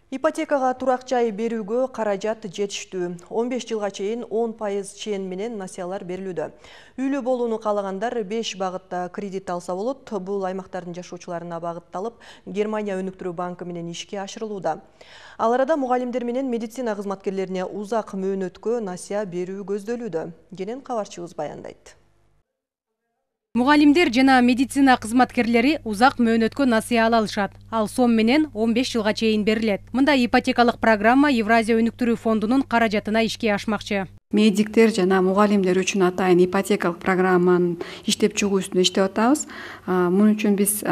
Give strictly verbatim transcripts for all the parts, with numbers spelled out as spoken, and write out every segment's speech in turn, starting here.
Ипотекага турак жай берүүгө каражат жетиштүү. он беш жылга чейин он пайыз чен менен насыялар берилүүдө. Үйлүү болууну каалагандар беш багытта кредит алса болот. Бул аймактардын жашоочуларына багытталып, Германия өнүктүрүү банкы менен ишке ашырылууда. Ал арада мугалимдер менен медицина кызматкерлерине узак мөөнөткө насыя берүү көздөлүүдө. Кенен кабарчыбыз баяндайт. Мугалимдер жана медицина кызматкерлери узак мөөнөткө насыя ала алышат. Ал сом менен он беш жылга чейин берилет. Мындай ипотекалык программа Евразия өнүктүрүү фондунун каражатына ишке ашмакчы. Медиктер жана мугалимдер үчүн атайын ипотекалык программанын иштеп чыгуу үстүндө иштеп атабыз. Мун үчүн биз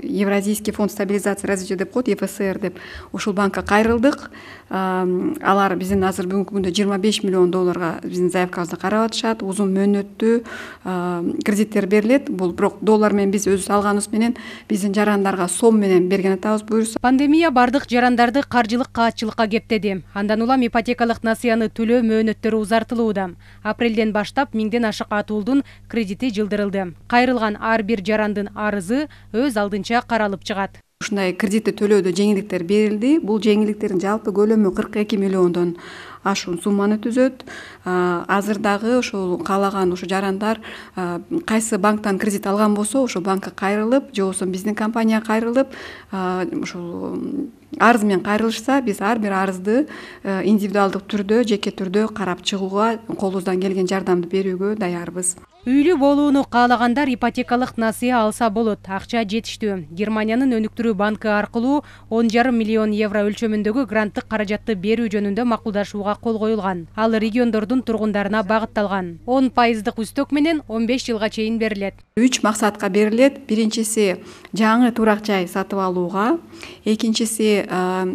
Евразийский фонд стабилизации и развития деп коет, Е Ф С Р деп ушул банкка кайрылдык. Алар биздин азыр бүгүнкү күндө жыйырма беш миллион долларга биздин заявкабызды карап атышат. Узун мөөнөттүү кредиттер берилет. Бул бирок доллар менен биз өзүбүз алганыбыз менен биздин жарандарга сом менен берген атабыз буюрса. Пандемия бардык жарандарды каржылык каатчылыкка кептеди. Андан улам ипотекалык насыяны төлөө мөөнөттөрү узартылууда. Апрелден баштап миңден ашык атуулдун кредити жылдырылды. Кайрылган ар бир жарандын арызы өз алдынча каралып чыгат. Ушундай кредитти төлөөдө жеңилдиктер берилди. Бул жеңилдиктердин жалпы көлөмү кырк эки миллиондон ашуун сумманы түзөт. Азыр дагы ошол каалаган ушу жарандар кайсы банктан кредит алган болсо, ошол банкка кайрылып, же болбосо биздин компанияга кайрылып, ушул арыз менен кайрылышса, биз ар бир арызды индивидуалдык түрдө, жеке түрдө карап чыгууга, колубуздан келген жардамды берүүгө даярбыз. Үйлүү болууну каалагандар ипотекалык насыя алса болот. Акча жетиштүү. Германиянын өнүктүрүү банкы аркылуу он жарым миллион евро өлчөмүндөгү гранттык каражатты берүү жөнүндө макулдашууга кол коюлган. Ал региондордун тургундарына багытталган. он пайыздык үстөк менен он беш жылга чейин берилет. Үч максатка берилет. Биринчиси жаңы турак жай сатып алууга, экинчиси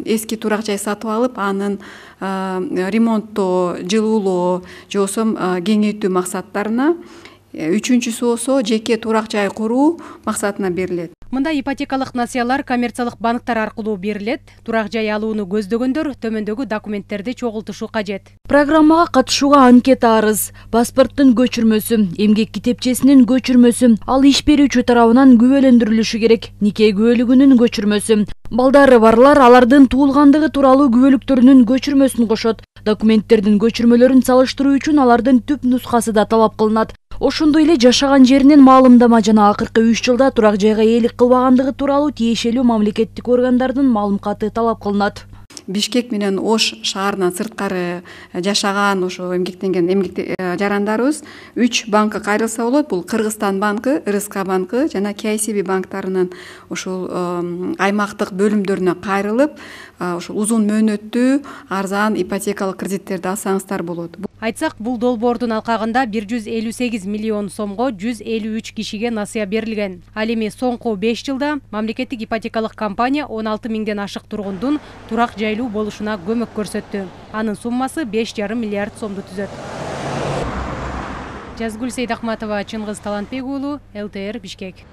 эски турак жай сатып алып, анын ремонттоо, жылуулоо, же болбосо кеңейтүү максаттарына, үчүнчүсү болсо жеке турак жай куруу максатына берилет. Мындай ипотекалык насыялар коммерциялык банктар аркылуу берилет. Турак жай алууну көздөгөндөр төмөндөгү документтерди чогултушу кажет. Программага катышууга анкета арыз, паспорттун көчүрмөсү, эмгек китепчесинин көчүрмөсү, ал иш берүүчү тарабынан күбөлөндүрүлүшү керек, нике күбөлүгүнүн көчүрмөсү. Балдары барлар алардын туулгандыгы тууралуу күбөлүктөрүнүн көчүрмөсүн кошот. Документтердин көчүрмөлөрүн салыштыруу үчүн алардын түп нускасы да талап кылынат. Ошондой эле жашаган жеринен маалымдама жана акыркы үч жылда турак жайга ээлик кылбагандыгы тууралуу тиешелүү мамлекеттик органдардын маалымкаты талап кылынат. Бишкек менен Ош шаарынан сырткары жашаган ошо эмгектенген эмгек жарандарыбыз үч банкка кайрылса болот. Бул Кыргызстан банкы, Р С К банкы жана К С Б банктарынын ошол аймактык бөлүмдөрүнө кайрылып, ошол узун мөөнөттүү арзан ипотекалык кредиттерди алсаңыздар болот. Айтсак, бул долбоордун алкагында бир жүз элүү сегиз миллион сомго жүз элүү үч кишиге насыя берилген. Ал эми соңку беш жылда мамлекеттик ипотекалык компания он алты миңден ашык тургундун турак жайлуу болушуна көмөк көрсөттү. Анын суммасы беш жарым миллиард сомду түзөт. Жазгүл Сейдахматова, Чыңгыз Талантбек уулу, Л Т Р, Бишкек.